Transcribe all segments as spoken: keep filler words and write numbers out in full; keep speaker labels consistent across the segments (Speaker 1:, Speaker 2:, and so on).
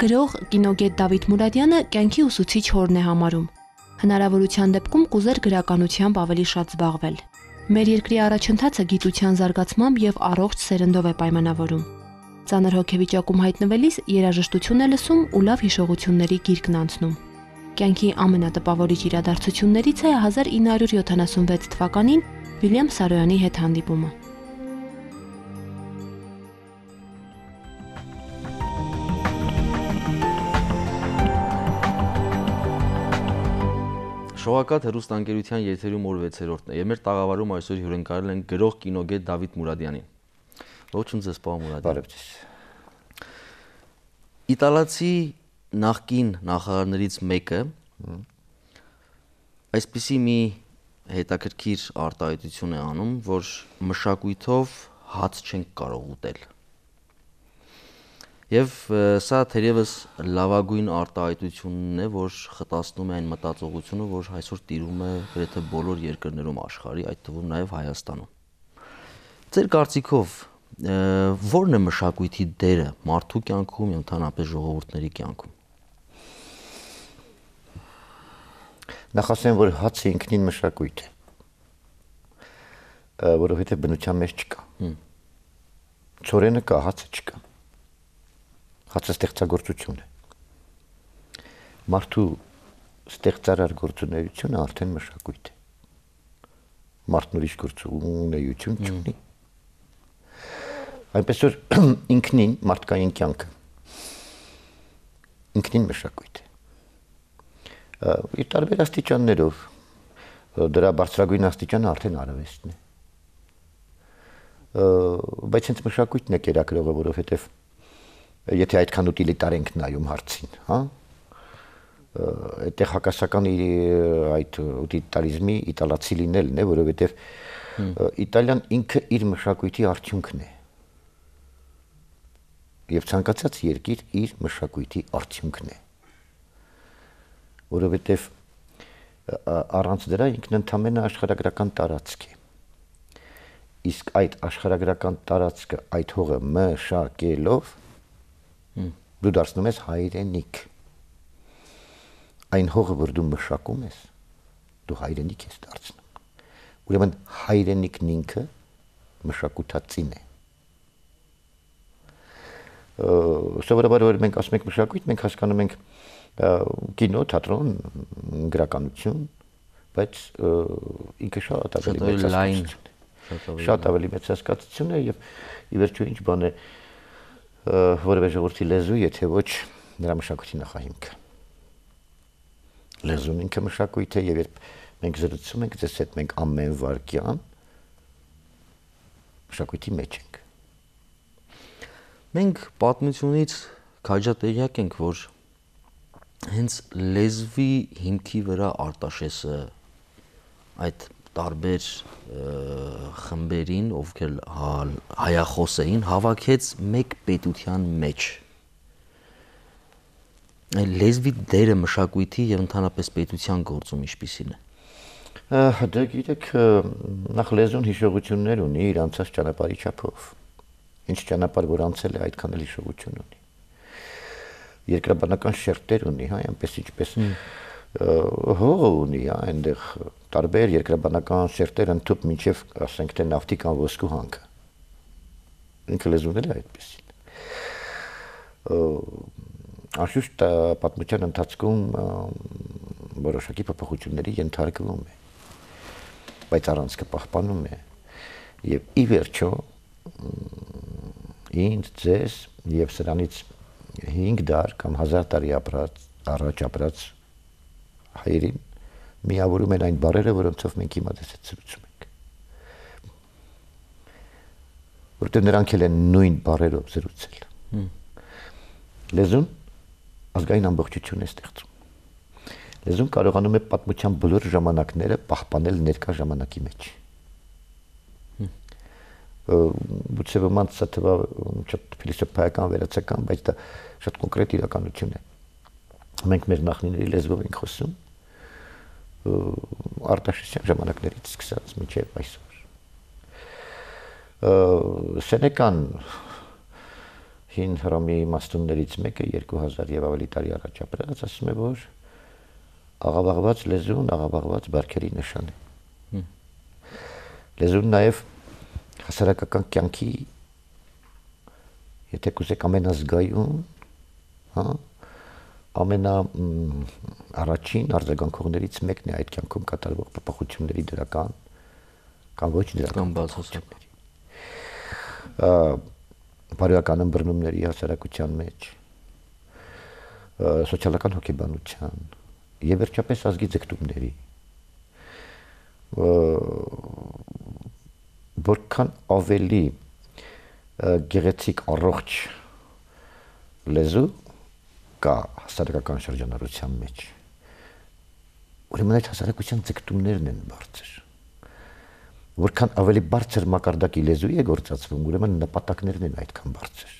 Speaker 1: գրող կինոգետ Դավիթ Մուրադյանը կյանքի ուսուցիչ հորն է համարում։ Հնարավորության դեպքում կուզեր գրականությամբ ավելի շատ զբաղվել։ Մեր երկրի առաջընթացը գիտության զարգացմամբ եւ առողջ սերնդով է պայմանավորում։ Ծանր հոգեվիճակում հայտնվելիս երաժշտություն է լսում ու լավ հիշողությունների գիրկն անցնում։ Կյանքի ամենատպավորիչ իրադարձություններից է հազար ինը հարյուր յոթանասունվեց թվականին Վիլյամ Սարոյանի հետ հանդիպումը։
Speaker 2: Շողակաթ հեռուստաընկերության եթերում օր վեցերորդն է եւ մեր տաղավարում այսօր հյուրընկալել են գրող կինոգետ Դավիթ Մուրադյանին։ Ողջույն ձեզ, պարոն Մուրադյան։
Speaker 3: Բարև ձեզ։
Speaker 2: Իտալացի նախկին նախարարներից մեկը այսպիսի մի հետաքրքիր արտահայտություն է անում, որ մշակույթով հաց չենք կարող ուտել։ Եվ սա թերևս լավագույն արտահայտությունն է, որ խտացնում է այն մտածողությունը, որ այսօր տիրում է գրեթե բոլոր երկրներում աշխարհի, այդ թվում նաև Հայաստանում։ Ձեր կարծիքով ո՞րն է մշակույթի դերը մարդու կյանքում եւ ընդհանրապես ժողովուրդների կյանքում։
Speaker 3: Նախ ասեմ, որ հացը ինքնին մշակույթ է, որովհետեւ բնության մեջ չկա։ Ցորենը կա, հացը չկա։ Հացը ստեղծագործություն է։ Մարդու ստեղծարար գործունեությունը արդեն մշակույթ է։ Մարդն ուրիշ գործունեություն չունի։ Այնպես որ ինքնին մարդկային կյանքը ինքնին մշակույթ է։ Իր տարբեր աստիճաններով դրա բարձրագույն աստիճանը արդեն արվեստն է։ Բայց հենց մշակույթն է կերակրողը, որովհետև եթե այդքան ուտիլիտար ենք նայում հարցին, հա, այդտեղ հակասական այդ ուտիլիտարիզմի իտալացի լինելն է, որովհետև Իտալիան ինքը իր մշակույթի արդյունքն է։ Եվ ցանկացած երկիր իր մշակույթի արդյունքն է։ Որովհետև առանց դրա ինքն ընդհանրապես աշխարհագրական տարածք է։ Իսկ այդ աշխարհագրական տարածքը այդ հողը մշակելով դու դարձնում ես հայրենիք։ Այն հողը, որ դու մշակում ես, դու հայրենիք ես դարձնում։ Ուրեմն հայրենիքն ինքը մշակութածին է։ Սովորաբար որ մենք ասում ենք մշակույթ, մենք հասկանում ենք կինո, թատրոն, գրականություն, բայց ինքը շատ ավելի մեծ հասկացություն է։ Շատ ավելի մեծ հասկացություն է եւ ի վերջո ինչ բան է որևէ ժողովրդի լեզու, եթե ոչ նրա մշակույթի նախահիմքը։ Լեզուն ինքը մշակույթ է եւ երբ մենք զրուցում ենք ձեզ հետ, մենք ամեն վարքյան մշակույթի մեջ ենք։
Speaker 2: Մենք պատմությունից քաջատեղյակ ենք, որ հենց լեզվի հիմքի վրա Արտաշեսը այդ տարբեր խմբերին, ովքեր հայախոս էին, հավաքեց մեկ պետության մեջ։ Լեզվի դերը մշակույթի եւ ընդհանրապես պետության գործում ինչպիսին է։
Speaker 3: Դե գիտեք, նախ լեզուն հիշողություններ ունի իր անցած ճանապարհի չափով։ Ինչ ճանապարհ որ անցել է, այդքան էլ հիշողություն ունի։ Երկրաբանական շերտեր ունի, հա, այնպես ինչպես հողը ունի, հա, այնտեղ տարբեր երկրաբանական շերտեր ընդཐུպ մինչև ասենք թե նավթի կամ ոսկու հանքը։ Ինքը լեզուն էլ է այդպեսին։ Անշուշտ պատմության ընթացքում որոշակի փոփոխությունների ենթարկվում է, բայց առանցքը պահպանում է եւ ի վերջո ինձ ձեզ եւ սրանից հինգ դար կամ հազար տարի ապրած առաջ ապրած հայերին միավորում են այն բառերը, որոնցով մենք հիմա դες հետ զրուցում ենք։ Որտեղ նրանք էլ են նույն բառերով զրուցել։ Լեզուն ազգային ամբողջություն է ստեղծում։ Լեզուն կարողանում է պատմության բոլոր ժամանակները պահպանել ներկա ժամանակի մեջ։ Գուցե ոմանց սա թվա շատ փիլիսոփայական վերացական, բայց դա շատ կոնկրետ իրականություն է։ Մենք մեր նախնիների լեզվով ենք խոսում Արտաշեսյան ժամանակներից սկսած մինչև այսօր։ Սենեկան հին հռոմի իմաստուններից մեկը երկու հազար եւ ավելի տարի առաջ ապրած ասում է, որ աղավաղված լեզուն աղավաղված բարքերի նշան է։ Լեզուն նաեւ հասարակական կյանքի եթե կուզեք ամենազգայուն, հա, ամենա առաջին արձագանքողներից մեկն է այդ կյանքում կատարվող փոփոխությունների դրական կամ ոչ դրական բացասական բարոյական ըմբռնումների հասարակության մեջ, սոցիալական հոգեբանության եւ վերջապես ազգի ձգտումների, որքան ավելի գեղեցիկ առողջ լեզու կա հասարակական շրջանառության մեջ, ուրեմն այդ հասարակության ձգտումներն են բարձր, որքան ավելի բարձր մակարդակի լեզու է գործածվում, ուրեմն նպատակներն են այդքան բարձր։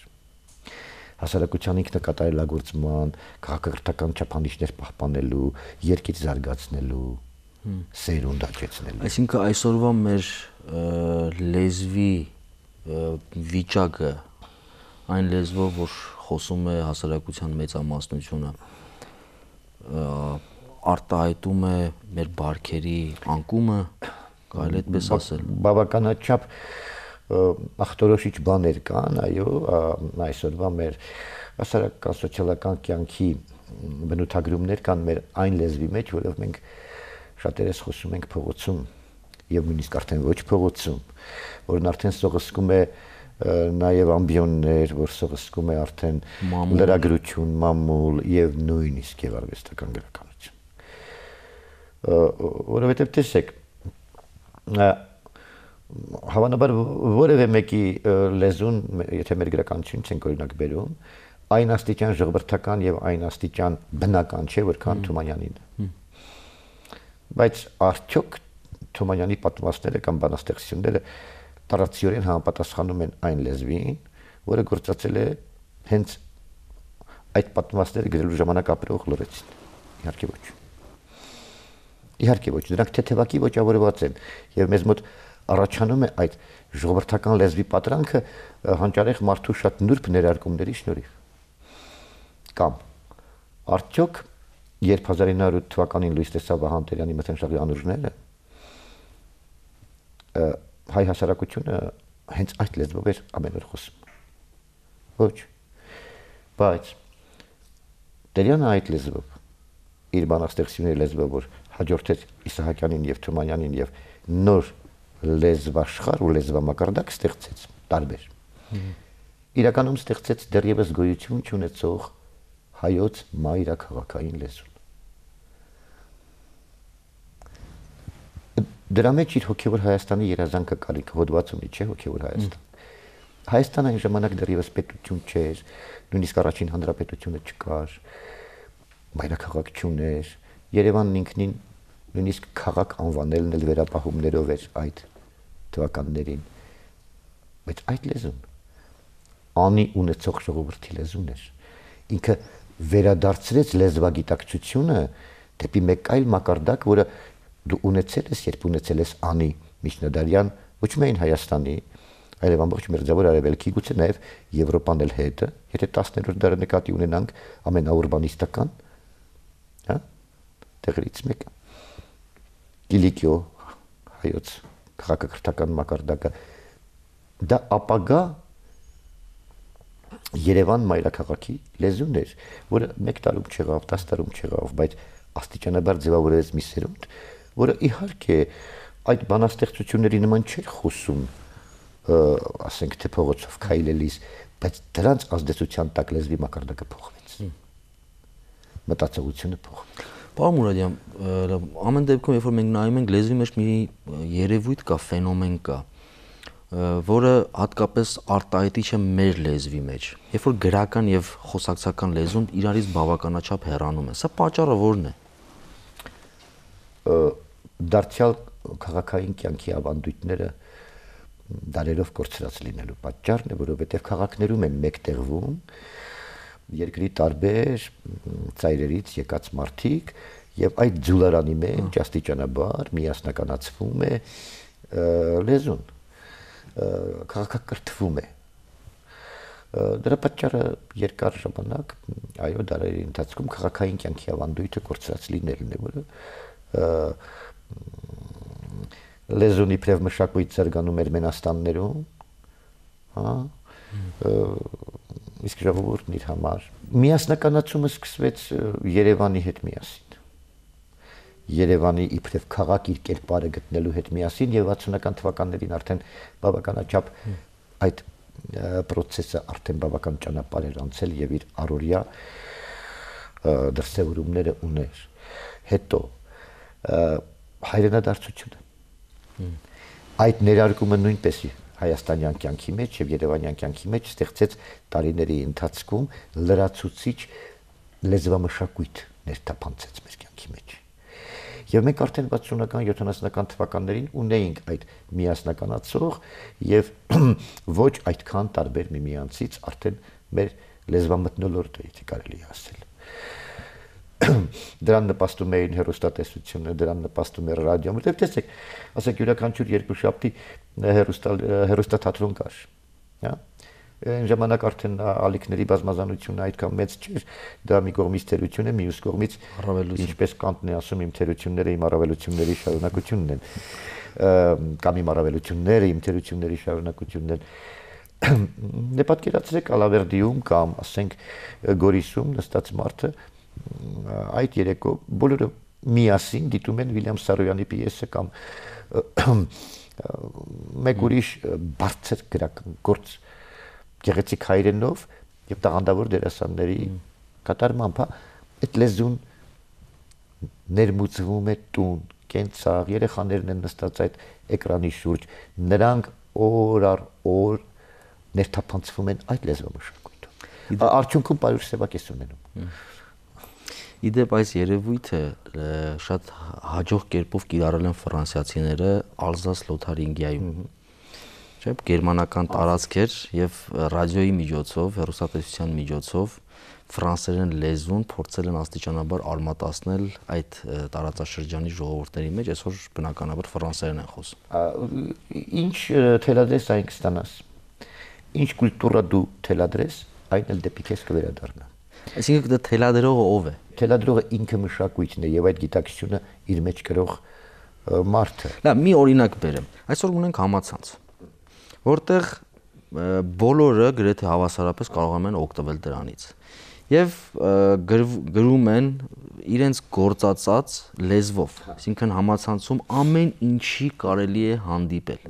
Speaker 3: Հասարակության ինքնակատարելագործման, քաղաքակրթական չափանիշներ պահպանելու, երկիր զարգացնելու, սերունդ աճեցնելու։
Speaker 2: Այսինքն այսօրվա մեր լեզվի վիճակը այն լեզվով, որ խոսում է հասարակության մեծամասնությունը, արտահայտում է մեր բարքերի անկումը, կարելի այդպես ասել։
Speaker 3: Բավականաչափ ախտորոշիչ բաներ կան, այո, այսօրվա մեր հասարակական սոցիալական կյանքի բնութագրումներ կան մեր այն լեզվի մեջ, որով մենք շատերս խոսում ենք փողոցում եւ նույնիսկ արդեն ոչ փողոցում, որն արդեն սողսկում է նաեւ ամբիոններ, որ սողսկում է արդեն լրագրություն, մամուլ եւ նույնիսկ եւ արվեստական գրականություն։ Որովհետեւ տեսեք, հավանաբար որևէ մեկի լեզուն, եթե մեր գրականությունից ենք օրինակ բերում, այն աստիճան ժողովրդական եւ այն աստիճան բնական չէ, որքան Թումանյանին։ Բայց արդյոք Թումանյանի պատմվածքները կամ բանաստեղծությունները տարածիորեն համապատասխանում են այն լեզվին, որը գործածել է հենց այդ պատմվածքները գրելու ժամանակ ապրող լրացին։ Իհարկե ոչ։ Իհարկե ոչ, դրանք թեթևակի ոճավորված են եւ մեզ մոտ առաջանում է այդ ժողովրդական լեզվի պատրանքը հանճարեղ մարդու շատ նուրբ ներարկումների շնորհիվ։ Կամ արդյոք երբ հազար ինը հարյուր թվականին լույս տեսավ Վահան Տերյանի մթնշաղի անուրջները, հայ հասարակությունը հենց այդ լեզվով էր ամեն օր խոսում։ Ոչ։ Բայց Տերյանը այդ լեզվով իր բանաստեղծությունների լեզվով, որ հաջորդեց Իսահակյանին եւ Թումանյանին եւ նոր լեզվաշխարհ ու լեզվամակարդակ ստեղծեց տարբեր։ Իրականում ստեղծեց դեռևս գոյություն չունեցող հայոց մայրաքաղաքային լեզուն։ Դրա մեջ իր հոգևոր Հայաստանի երազանքը կարիք հոդված ունի, չէ՞ հոգևոր Հայաստան։ Հայաստանը այն ժամանակ դեռևս պետություն չէր, նույնիսկ առաջին հանրապետությունը չկար, մայրաքաղաք չուներ, Երևանն ինքնին նույնիսկ քաղաք անվանելն էլ վերապահումներով էր այդ թվականներին։ Բայց այդ լեզուն անի ունեցող ժողովրդի լեզուն էր։ Ինքը վերադարձրեց լեզվագիտակցությունը դեպի մեկ այլ մակարդակ, որը դու ունեցել ես, երբ ունեցել ես անի միջնադարյան, ոչ միայն Հայաստանի, այլև ամբողջ մերձավոր Արևելքի, գուցե նաև Եվրոպան էլ հետը, եթե տասներորդ դարը նկատի ունենանք ամենաուրբանիստական, հա, տեղերից մեկը։ Կիլիկիո հայոց քաղաքակրթական մակարդակը դա ապագա Երևան մայրաքաղաքի լեզուն էր, որը մեկ տարում չեղավ, տասը տարում չեղավ, բայց աստիճանաբար ձևավորեց մի սերունդ, որը իհարկե այդ բանաստեղծությունների նման չէր խոսում, ասենք թե փողոցով քայլելիս, բայց դրանց ազդեցության տակ լեզվի մակարդակը փոխվեց։ Մտածողությունը փոխվեց։
Speaker 2: Պարոն Մուրադյան, ամեն դեպքում, երբ որ մենք նայում ենք լեզվի մեջ մի երևույթ կա, ֆենոմեն կա, որը հատկապես արտահայտիչ է մեր լեզվի մեջ։ Երբ որ գրական եւ խոսակցական լեզուն իրարից բավականաչափ հեռանում է, սա պատճառը ո՞րն է։
Speaker 3: Դարձյալ քաղաքային կյանքի ավանդույթները դարերով կորցրած լինելու պատճառն է, որովհետեւ քաղաքներում են մեկտեղվում երկրի տարբեր ծայրերից եկած մարդիկ եւ այդ ձուլարանի մեջ աստիճանաբար միասնականացվում է լեզուն, քաղաքակրթվում է, Դրա պատճառը երկար ժամանակ, այո, դարերի ընթացքում քաղաքային կյանքի ավանդույթը կորցրած լինելն է, որը լեզուն իբրև մշակույթ զարգանում էր Մենաստաններում, հա, իսկ ժողովուրդն իր համար միասնականացումը սկսվեց Երևանի հետ միասին։ Երևանի իբրև քաղաք իր կերպարը գտնելու հետ միասին եւ վաթսունական թվականներին արդեն բավականաչափ այդ process-ը արդեն բավական ճանապարհ էր անցել եւ իր առօրյա դրսևորումները ուներ։ Հետո հայրենադարձությունը այդ ներարկումը նույնպես հայաստանյան կյանքի մեջ եւ երևանյան կյանքի մեջ ստեղծեց տարիների ընթացքում լրացուցիչ լեզվամշակույթ ներթափանցեց մեր կյանքի մեջ։ Եվ մենք արդեն վաթսունական յոթանասունական թվականներին ունեինք այդ միասնականացող եւ ոչ այդքան տարբեր միմյանցից արդեն մեր լեզվամթնոլորտը, եթե կարելի է ասել։ Դրան նպաստում էին հեռուստատեսությունը, դրան նպաստում էր ռադիոն, որտեղ տեսեք, ասեք յուրաքանչյուր երկուշաբթի հեռուստաթատրոն կար, հա։ Այն ժամանակ արդեն ալիքների բազմազանությունը այդքան մեծ չէր, դա մի կողմից թերություն է, մյուս կողմից ինչպես Կանտն է ասում, իմ թերությունները իմ առավելությունների շարունակությունն են, կամ իմ առավելությունները իմ թերությունների շարունակությունն են։ Դե պատկերացրեք Ալավերդիում կամ ասենք Գորիսում նստած մարդը այդ երեկո բոլորը միասին դիտում են Վիլյամ Սարոյանի պիեսը կամ մեկ ուրիշ բարձր գրական գործ գեղեցիկ հայրենով եւ տաղանդավոր դերասանների կատարմամբ, այդ լեզուն ներմուծվում է տուն, կենցաղ, երեխաներն են նստած այդ էկրանի շուրջ, նրանք օր առ օր ներթափանցվում են այդ լեզվամշակույթով։ Արդյունքում պարուր սևակ ես ունենում։
Speaker 2: Իդեպ այս երևույթը շատ հաջող կերպով կիրառել են ֆրանսիացիները Ալզաս Լոթարինգիայում։ Չէ՞, գերմանական տարածք էր եւ ռադիոյի միջոցով, հեռուստատեսության միջոցով ֆրանսերեն լեզուն փորձել են աստիճանաբար արմատացնել այդ տարածաշրջանի ժողովուրդների մեջ, այսօր բնականաբար ֆրանսերեն են խոսում։
Speaker 3: Ինչ թելադրես այն կստանաս։ Ինչ կուլտուրա դու թելադրես, այն էլ դեպի քեզ կվերադառնա։
Speaker 2: Այսինքն դա թելադրողը ով է։
Speaker 3: Թելադրողը ինքը մշակույթն է եւ այդ գիտակցությունը իր մեջ կրող մարդը։
Speaker 2: Լավ, մի օրինակ բերեմ։ Այսօր ունենք համացանց, որտեղ բոլորը գրեթե հավասարապես կարող են օգտվել դրանից։ Եվ գրում են իրենց գործածած լեզվով, այսինքն համացանցում ամեն ինչի կարելի է հանդիպել։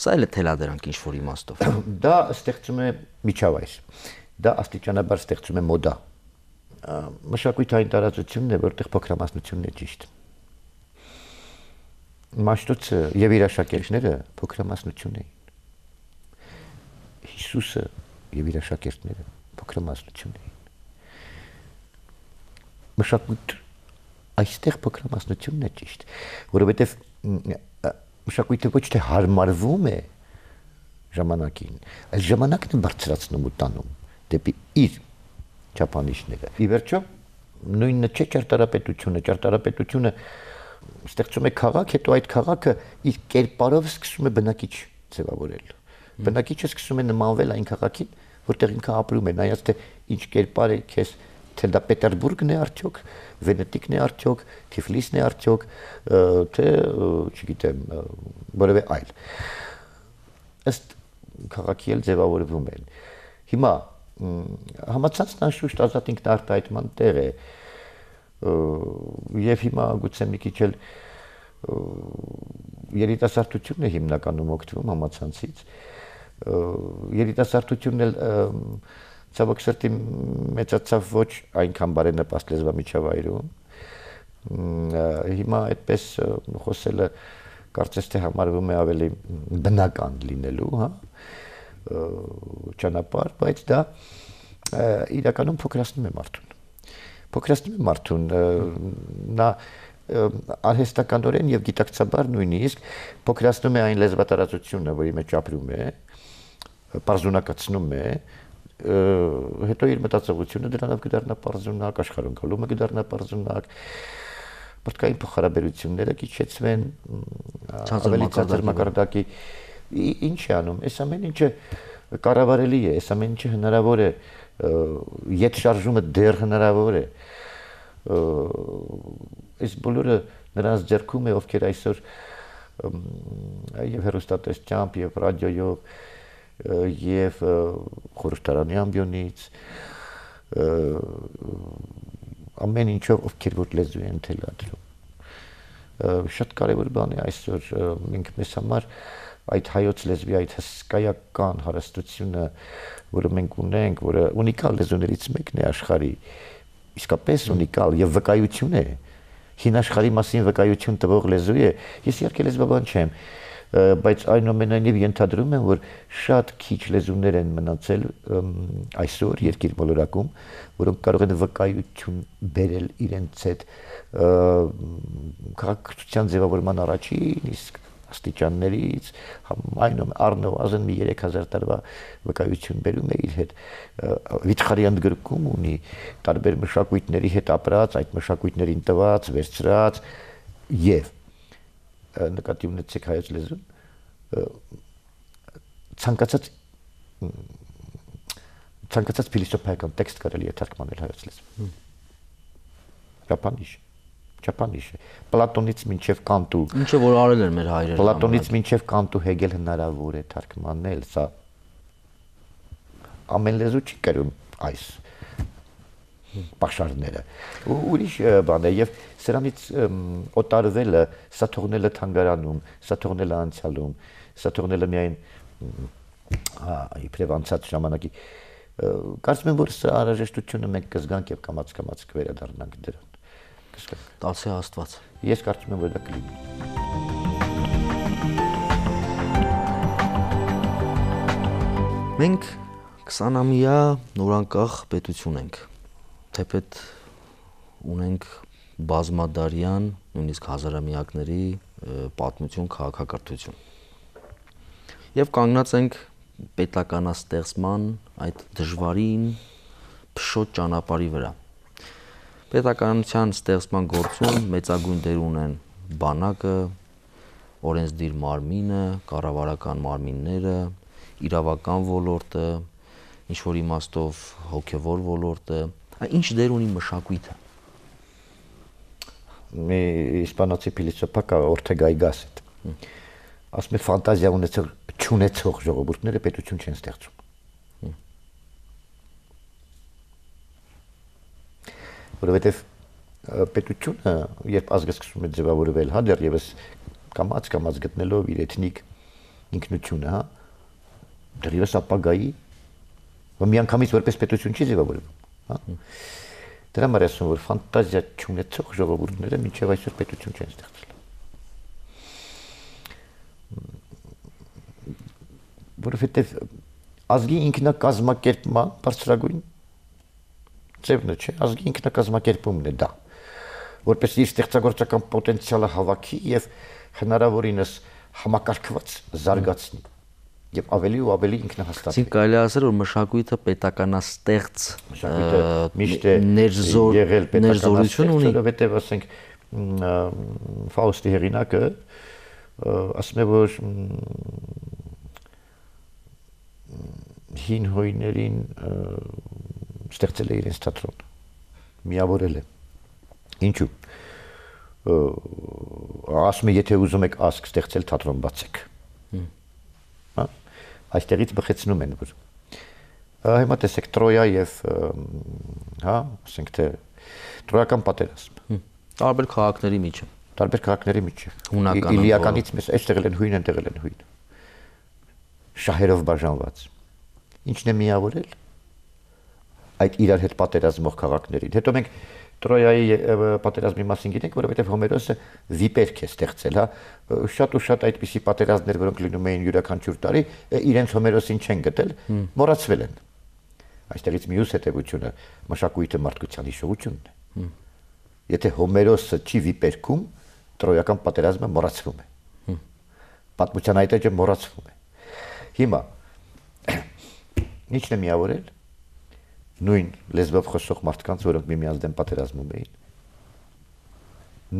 Speaker 2: Սա էլ է թելադրանք ինչ-որ իմաստով։
Speaker 3: Դա ստեղծում է միջավայր։ Դա աստիճանաբար ստեղծում է մոդա։ Մշակույթային տարածությունն է, որտեղ փոքրամասնությունն է ճիշտ։ Մաշտոցը եւ իր աշակերտները փոքրամասնություն էին։ Հիսուսը եւ իր աշակերտները փոքրամասնություն էին։ Մշակույթ այստեղ փոքրամասնությունն է ճիշտ, որովհետեւ մշակույթը ոչ թե հարմարվում է ժամանակին, այլ ժամանակն է բարձրացնում ու տանում դեպի իր չափանիշները։ Ի վերջո նույնը չէ ճարտարապետությունը, ճարտարապետությունը ստեղծում է քաղաք, հետո այդ քաղաքը իր կերպարով սկսում է բնակիչ ձևավորել։ Բնակիչը սկսում է նմանվել այն քաղաքին, որտեղ ինքը ապրում է, նայած թե ինչ կերպար է քեզ, թե դա Պետերբուրգն է արդյոք, Վենետիկն է արդյոք, Թիֆլիսն է արդյոք, թե չգիտեմ, որևէ այլ։ Ըստ քաղաքի էլ ձևավորվում են։ Հիմա համացանցն անշուշտ ազատ ինքնարտահայտման տեղ է, եւ հիմա գուցե մի քիչ էլ երիտասարդությունն է հիմնականում օգտվում համացանցից, երիտասարդությունն էլ ցավոք սրտի մեծացավ ոչ այնքան բարենպաստ լեզվամիջավայրում, հիմա այդպես խոսելը կարծես թե համարվում է ավելի բնական լինելու, հա, ճանապարհ, բայց դա իրականում փոքրացնում է մարդուն։ Փոքրացնում է մարդուն, նա արհեստականորեն եւ գիտակցաբար նույնիսկ փոքրացնում է այն լեզվատարածությունը, որի մեջ ապրում է, պարզունակացնում է, հետո իր մտածողությունը դրանով կդառնա պարզունակ, աշխարհընկալումը կդառնա պարզունակ, մարդկային փոխհարաբերությունները կիչեցվեն ավելի ցածր մակարդակի։ Ինչ է անում։ Այս ամեն ինչը կառավարելի է, այս ամեն ինչը հնարավոր է, ետ շարժումը դեռ հնարավոր է։ Այս բոլորը նրանց ձեռքում է, ովքեր այսօր եւ հեռուստատեսությամբ եւ ռադիոյով եւ խորհրդարանի ամբիոնից ամեն ինչով ովքեր որ լեզու են թելադրում։ Շատ կարևոր բան է այսօր մենք մեզ համար այդ հայոց լեզվի այդ հսկայական հարստությունը, որը մենք ունենք, որը ունիկալ լեզուներից մեկն է աշխարհի, իսկապես ունիկալ եւ վկայություն է, հին աշխարհի մասին վկայություն տվող լեզու է։ Ես իհարկե լեզվաբան չեմ, բայց այնուամենայնիվ ենթադրում եմ, որ շատ քիչ լեզուներ են մնացել այսօր երկիր մոլորակում, որոնք կարող են վկայություն բերել իրենց հետ քաղաքացիության ձևավորման առաջին իսկ աստիճաններից, այնում առնվազն մի երեք հազար տարվա վկայություն բերում է իր հետ, վիճխարի ընդգրկում ունի տարբեր մշակույթների հետ ապրած, այդ մշակույթներին տված, վերցրած եւ նկատի ունեցեք հայոց լեզուն ցանկացած ցանկացած փիլիսոփայական տեքստ կարելի է թարգմանել հայոց լեզվով։ Ճապանիշ Ճապանիշ է։ Պլատոնից մինչև Կանտ ու
Speaker 2: ինչը որ արել են մեր հայրերը։
Speaker 3: Պլատոնից մինչև Կանտ ու Հեգել հնարավոր է թարգմանել, սա ամեն լեզու չի կրում այս պաշարները։ Ու ուրիշ բան է եւ սրանից օտարվելը, սա թողնելը թանգարանում, սա թողնելը անցյալում, սա թողնելը միայն իբրև անցած ժամանակի կարծում եմ որ սա անհրաժեշտությունը մենք կզգանք եւ կամաց-կամաց կվերադառնանք դրան։
Speaker 2: Տալսի Աստված։
Speaker 3: Ես կարծում եմ որ դա կլինի։
Speaker 2: Մենք քսանամյա նորանկախ պետություն ենք, թեպետ ունենք բազմադարյան, նույնիսկ հազարամյակների պատմություն, քաղաքակրթություն։ Եվ կանգնած ենք պետականաստեղծման այդ դժվարին փշոտ ճանապարհի վրա։ Պետականության ստեղծման գործում մեծագույն դեր ունեն բանակը, օրենսդիր մարմինը, կառավարական մարմինները, իրավական ոլորտը, ինչ որ իմաստով հոգևոր ոլորտը, ինչ դեր ունի մշակույթը։
Speaker 3: Մի իսպանացի փիլիսոփա կա Օրտեգա y Gasset։ Ասում է ֆանտազիա ունեցող չունեցող ժողովուրդները պետություն չեն ստեղծում։ Որովհետև պետությունը, երբ ազգը սկսում է ձևավորվել, հա դեռևս կամաց-կամաց գտնելով իր էթնիկ ինքնությունը, հա, դեռևս ապագայի միանգամից որպես պետություն չի ձևավորվում, հա։ Դրա համար ասում որ ֆանտազիա չունեցող ժողովուրդները մինչև այսօր պետություն չեն ստեղծել։ Որովհետև ազգի ինքնակազմակերպման բարձրագույն ձևն է, չէ, ազգի ինքնակազմակերպումն է դա, որպես իր ստեղծագործական պոտենցիալը հավաքի եւ հնարավորինս համակարգված զարգացնի եւ ավելի ու ավելի ինքնահաստատվի։
Speaker 2: Այսինքն կարելի է ասել որ մշակույթը պետականաստեղծ
Speaker 3: միշտ է եղել պետականաստեղծ, որովհետեւ ասենք Ֆաուստի հեղինակը ասում է որ հին հույներին ստեղծել է իրենց թատրոն, միավորել է։ Ինչու՞։ Ասում է, եթե ուզում եք ազգ ստեղծել, թատրոն բացեք։ Հա, այստեղից բխեցնում են որ։ Հիմա տեսեք Տրոյա եւ հա, ասենք թե Տրոյական պատերազմ։
Speaker 2: Տարբեր քաղաքների միջև։
Speaker 3: Տարբեր քաղաքների միջև։
Speaker 2: Հունական
Speaker 3: Իլիականից մեզ այստեղ են հույն, այնտեղ են հույն։ Շահերով բաժանված։ Ինչն է միավորել այդ իրար հետ պատերազմող քաղաքներին։ Հետո մենք Տրոյայի պատերազմի մասին գիտենք, որովհետև Հոմերոսը վիպերք է ստեղծել, հա, շատ ու շատ այդպիսի պատերազմներ, որոնք լինում էին յուրաքանչյուր տարի, իրենց Հոմերոսին չեն գտել, մոռացվել են։ Այստեղից մյուս հետևությունը մշակույթը մարդկության հիշողությունն է։ Եթե Հոմերոսը չի վիպերքում, Տրոյական պատերազմը մոռացվում է։ Պատմության այդ էջը մոռացվում է։ Հիմա ի՞նչն է միավորել նույն լեզվով խոսող մարդկանց, որոնք միմյանց դեմ պատերազմում էին,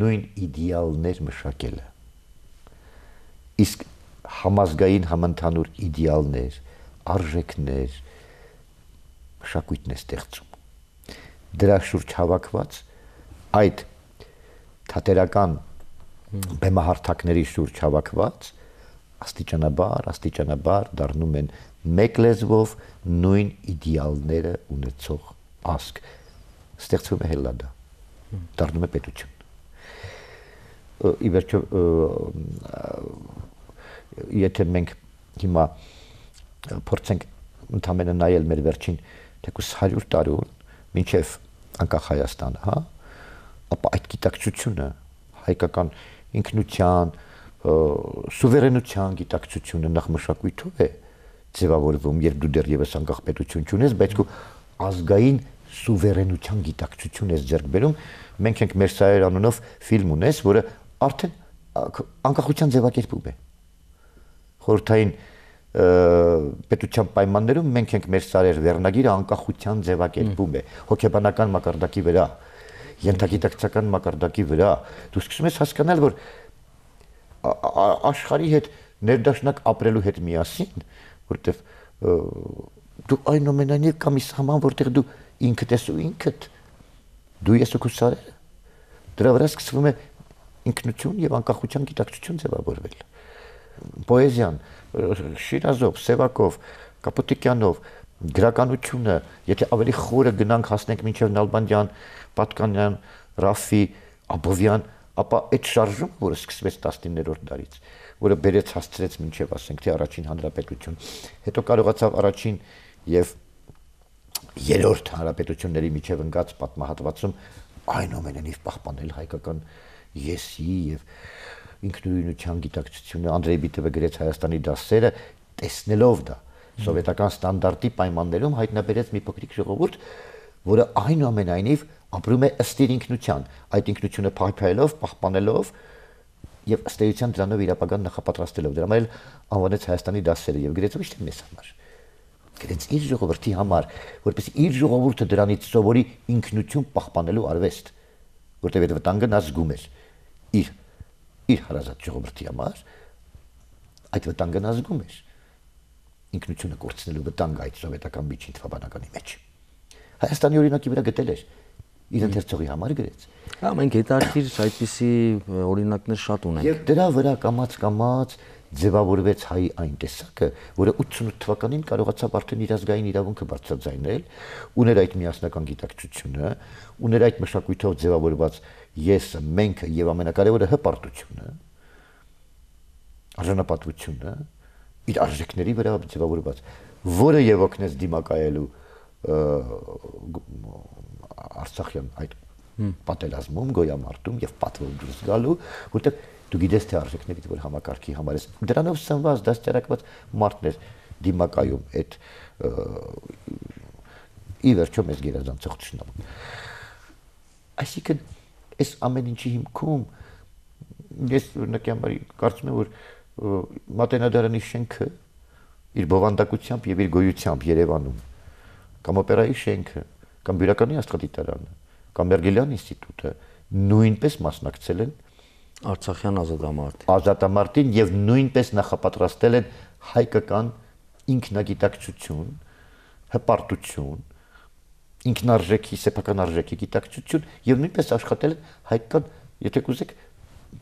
Speaker 3: նույն իդեալներ մշակելը, իսկ համազգային համընդհանուր իդեալներ, արժեքներ, մշակույթն է ստեղծում։ Դրա շուրջ հավաքված այդ թատերական բեմահարթակների շուրջ հավաքված աստիճանաբար, աստիճանաբար դառնում են մեկ լեզվով նույն իդեալները ունեցող ազգ։ Ստեղծվում է Հելլադա, դառնում է պետություն։ Ի վերջո, եթե մենք հիմա փորձենք ընդամենը նայել մեր վերջին թեկուզ հարյուր տարուն, մինչև անկախ Հայաստանը, հա, ապա այդ գիտակցությունը, հայկական ինքնության, սուվերենության գիտակցությունը նախ մշակույթով է ձևավորվում, երբ դու դեռևս անկախ պետություն չունես, բայց քո ազգային սուվերենության գիտակցություն ես ձեռք բերում։ Մենք ենք Մերսայեր անունով ֆիլմ ունես, որը արդեն անկախության ձևակերպում է։ Խորհրդային պետության պայմաններում մենք ենք Մերսայեր վերնագիրը անկախության ձևակերպում է, հոգեբանական մակարդակի վրա, ենթագիտակցական մակարդակի վրա։ Դու սկսում ես հասկանալ, որ աշխարհի հետ ներդաշնակ ապրելու հետ միասին, որտեվ դու այնուամենայնիվ կա մի սահման, որտեղ դու ինքդ ես ու ինքդ, դու ես ու քո սարերը, դրա վրա սկսվում է ինքնություն եւ անկախության գիտակցություն ձևավորվել։ Պոեզիան, Շիրազով, Սևակով, Կապուտիկյանով, գրականությունը, եթե ավելի խորը գնանք հասնենք մինչև Նալբանդյան, Պատկանյան, Ռաֆի, Աբովյան, ապա այդ շարժումը, որը սկսվեց տասնիններորդ դարից, որը բերեց հասցրեց մինչև ասենք թե առաջին հանրապետություն, հետո կարողացավ առաջին եւ երրորդ հանրապետությունների միջև ընկած պատմահատվածում այնուամենայնիվ պահպանել հայկական եսի եւ ինքնուրույնության գիտակցությունը։ Անդրեյ Բիտովը գրեց Հայաստանի դասերը, տեսնելով դա սովետական ստանդարտի պայմաններում հայտնաբերեց մի փոքրիկ ժողովուրդ, որը այնուամենայնիվ ապրում է ըստ իր ինքնության, այդ ինքնությունը փայփայելով, պահպանելով եւ ըստ էության դրանով իր ապագան նախապատրաստելով։ Դրա համար անվանեց Հայաստանի դասերը եւ գրեց ոչ թե մեզ համար, գրեց իր ժողովրդի համար, որպեսզի իր ժողովուրդը դրանից սովորի ինքնություն պահպանելու արվեստ, որտեղ այդ վտանգը նա զգում էր իր իր հարազատ ժողովրդի համար, այդ վտանգը նա զգում էր, ինքնությունը կորցնելու վտանգը այդ սովետական միջին թվաբանականի մեջ։ Հայաստանի օրինակի վրա գտել էր, իր ընթերցողի համար գրեց։
Speaker 2: Հա, մենք հետաքրքիր այդպիսի օրինակներ շատ ունենք։
Speaker 3: Եվ դրա վրա կամաց-կամաց ձևավորվեց հայի այն տեսակը, որը ութսունութ թվականին կարողացավ արդեն իր ազգային իրավունքը բարձրաձայնել, ուներ այդ միասնական գիտակցությունը, ուներ այդ մշակույթով ձևավորված եսը, մենք եւ ամենակարևորը հպարտությունը, արժանապատվությունը, իր արժեքների վրա ձևավորված, որը եւ օգնեց դիմակայելու Արցախյան այդ պատերազմում, գոյամարտում եւ պատվով դուրս գալու, որտեղ դու գիտես թե արժեքներից որ համակարգի համար ես դրանով սնված դաստիարակված մարդներ դիմակայում այդ ի վերջո մեզ գերազանցող ճշնամուն։ Այսինքն այս ամեն ինչի հիմքում ես օրինակի համար կարծում եմ որ Մատենադարանի շենքը իր բովանդակությամբ եւ իր գոյությամբ Երևանում կամ օպերայի շենքը կամ Բյուրականի աստղադիտարանը կամ Մերգելյան ինստիտուտը նույնպես մասնակցել են
Speaker 2: Արցախյան ազատամարտին
Speaker 3: ազատամարտին եւ նույնպես նախապատրաստել են հայկական ինքնագիտակցություն, հպարտություն, ինքնարժեքի, սեփական արժեքի գիտակցություն եւ նույնպես աշխատել են հայկական, եթե կուզեք,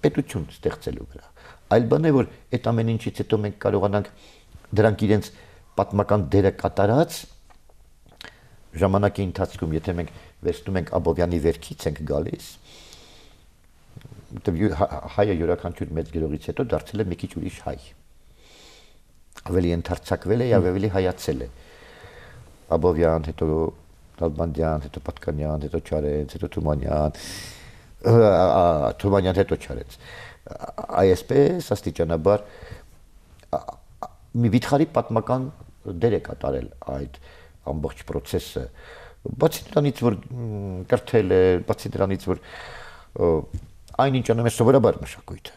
Speaker 3: պետություն ստեղծելու վրա։ Այլ բան է, որ այդ ամեն ինչից հետո մենք կարողանանք դրանք իրենց պատմական դերը կատարած ժամանակի ընթացքում, եթե մենք վերցնում ենք Աբովյանի վերքից ենք գալիս, հայը յուրաքանչյուր մեծ գրողից հետո դարձել է մի քիչ ուրիշ հայ։ Ավելի ընդարձակվել է եւ ավելի հայացել է։ Աբովյան, հետո Նալբանդյան, հետո Պատկանյան, հետո Չարենց, հետո Թումանյան, Թումանյան հետո Չարենց։ Այսպես աստիճանաբար մի վիթխարի պատմական դեր է կատարել այդ ամբողջ process-ը։ Բացի դրանից, որ կրթել է, բացի դրանից, որ այնինչ անում է սովորաբար մշակույթը,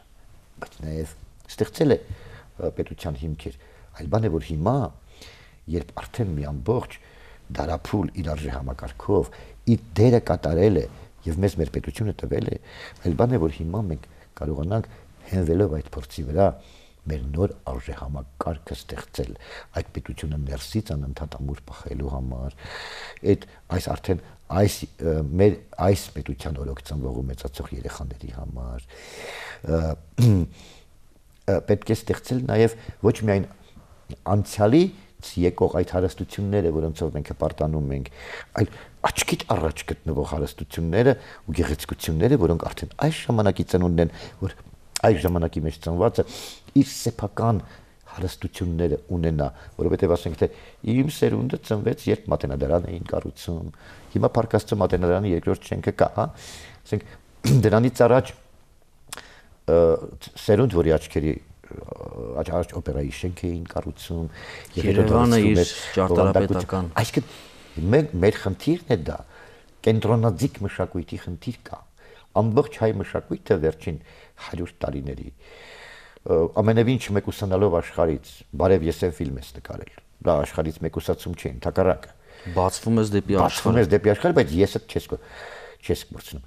Speaker 3: բայց նաև ստեղծել է պետության հիմքեր, այլ բան է, որ հիմա, երբ արդեն մի ամբողջ դարափուլ իր արժե համակարգով իր դերը կատարել է եւ մեզ մեր պետությունը տվել է, այլ բան է, որ հիմա մենք կարողանանք հենվելով այդ փորձի վրա մեր նոր արժեհամակարգը ստեղծել, այդ պետությունը ներսից անընդհատ ամուր պահելու համար, այդ այս արդեն այս մեր այս պետության օրոք ծնվող ու մեծացող երեխաների համար պետք է ստեղծել նաև ոչ միայն անցյալի եկող այդ հարստությունները, որոնցով մենք հպարտանում ենք, այլ աչքիդ առաջ գտնվող հարստությունները ու գեղեցկությունները, որոնք արդեն այս ժամանակի ծնունդն են, որ այս ժամանակի մեջ ծնվածը իր սեփական հարստությունները ունենա, որովհետև ասենք թե իմ սերունդը ծնվեց, երբ մատենադարան էին կառուցում, հիմա Փարքաստու մատենադարանի երկրորդ շենքը կա, հա, ասենք դրանից առաջ սերունդ, որի աչքերի առաջ օպերայի շենք էին կառուցում,
Speaker 2: Երևանը իր ճարտարապետական,
Speaker 3: այսինքն մեր խնդիրն է դա, կենտրոնաձիգ մշակույթի խնդիր կա, ամբողջ հայ մշակույթը վերջին հարյուր տարիների ամենևին չմեկուսանալով աշխարհից, բարև ես եմ ֆիլմ ես նկարել, դա աշխարհից մեկուսացում չէ, ընդհակառակը,
Speaker 2: բացվում ես դեպի աշխարհ,
Speaker 3: բացվում ես դեպի աշխարհ, բայց եսդ չես չես մրցնում,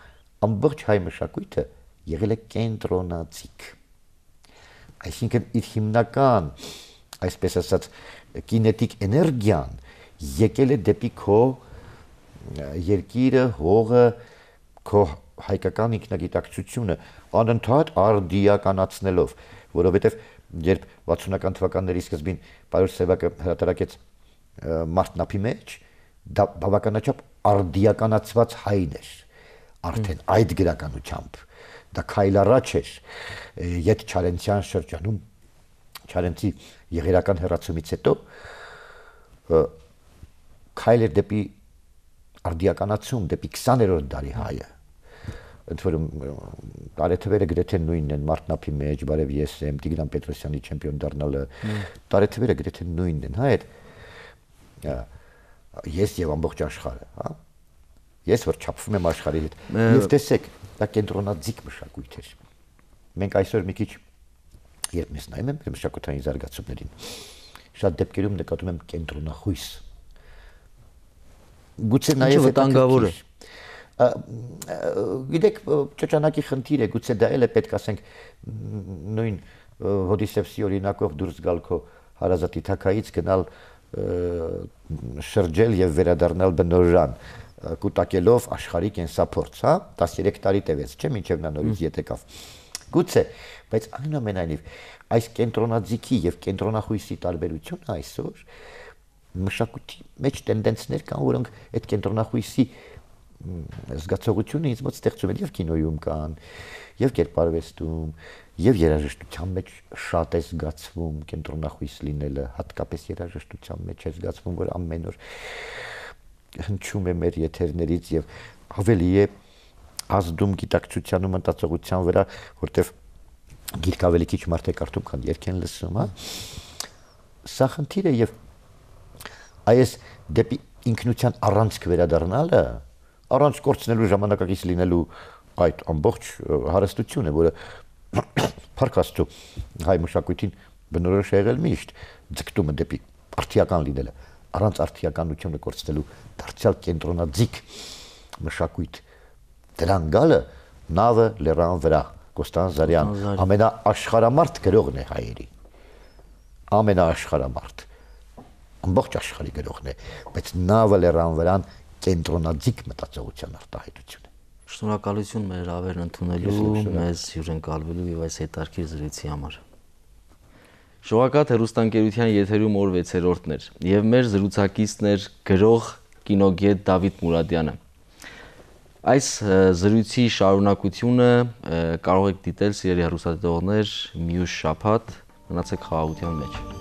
Speaker 3: ամբողջ հայ մշակույթը եղել է կենտրոնաձիգ, այսինքն իր հիմնական, այսպես ասած, կինետիկ էներգիան եկել է դեպի քո երկիրը, հողը, քո հայկական ինքնագիտակցությունը անընդհատ արդիականացնելով, որովհետև երբ վաթսունական թվականների սկզբին Պարոս Սևակը հրատարակեց Մարտնափի մեջ, դա բավականաչափ արդիականացված հայն էր, արդեն այդ գրականությամբ, դա քայլ առաջ էր, Ետ Չարենցյան շրջանում, Չարենցի եղերական հեռացումից հետո, քայլ էր դեպի արդիականացում, դեպի քսաներորդ դարի հայը, ընդ որում տարեթվերը գրեթե նույնն են Մարտնափի մեջ, բարև ես եմ, Տիգրան Պետրոսյանի չեմպիոն դառնալը, տարեթվերը գրեթե նույնն են, հա, այդ ես եւ ամբողջ աշխարհը, հա, ես որ չափվում եմ աշխարհի հետ, եւ տեսեք, դա կենտրոնաձիգ մշակույթ էր, մենք այսօր մի քիչ երբ ես նայում եմ մեր մշակութային զարգացումներին, շատ դեպքերում նկատում եմ կենտրոնախույս, գուցե նաեւ
Speaker 2: վտանգավոր է,
Speaker 3: գիտեք, ճճանակի խնդիր է, գուցե դա էլ է պետք ասենք նույն Հոդիսևսի օրինակով դուրս գալ քո հարազատի թակայից գնալ շրջել եւ վերադառնալ բնորան, կուտակելով աշխարհի կենսափորձ, հա, տասներեք տարի տևեց, չէ՞, մինչեւ նա նորից ետ եկավ։ Գուցե, բայց այնուամենայնիվ այս կենտրոնաձիգի եւ կենտրոնախույսի տարբերությունը այսօր մշակույթի մեջ տենդենսներ կան, որոնք այդ կենտրոնախույսի զգացողությունը ինձ մոտ ստեղծում են եւ կինոյում կան, եւ կերպարվեստում, եւ երաժշտության մեջ շատ է զգացվում կենտրոնախույս լինելը, հատկապես երաժշտության մեջ է զգացվում, որ ամեն օր հնչում է մեր եթերներից եւ ավելի է ազդում գիտակցության ու մտածողության վրա, որտեվ գիրք ավելի քիչ մարդ է կարդում, քան երգ են լսում, հա։ Սա խնդիր է եւ այս դեպի ինքնության առանցք վերադառնալը առանց կորցնելու ժամանակակից լինելու այդ ամբողջ հարստությունը, որը Փարքաստու հայ մշակույթին բնորոշ է եղել միշտ, ձգտումը դեպի արդիական լինելը, առանց արդիականությունը կորցնելու դարձյալ կենտրոնաձիգ մշակույթ, դրան գալը նավը լեռան վրա, Կոստան Զարյան, ամենաաշխարհամարդ գրողն է հայերի, ամենաաշխարհամարդ, ամբողջ աշխարհի գրողն է, բայց նավը լեռան վրան կենտրոնաձիգ մտածողության արտահայտություն է։
Speaker 2: Շնորհակալություն մեր հավերն ընդունելու, մեզ հյուրընկալվելու եւ այս հետաքրքիր զրույցի համար։ Շողակաթ հեռուստաընկերության եթերում օր վեցերորդն էր եւ մեր զրուցակիցն էր գրող կինոգետ Դավիթ Մուրադյանը։ Այս զրույցի շարունակությունը կարող եք դիտել սիրելի հեռուստադիտողներ մյուս շաբաթ, մնացեք խաղաղության մեջ։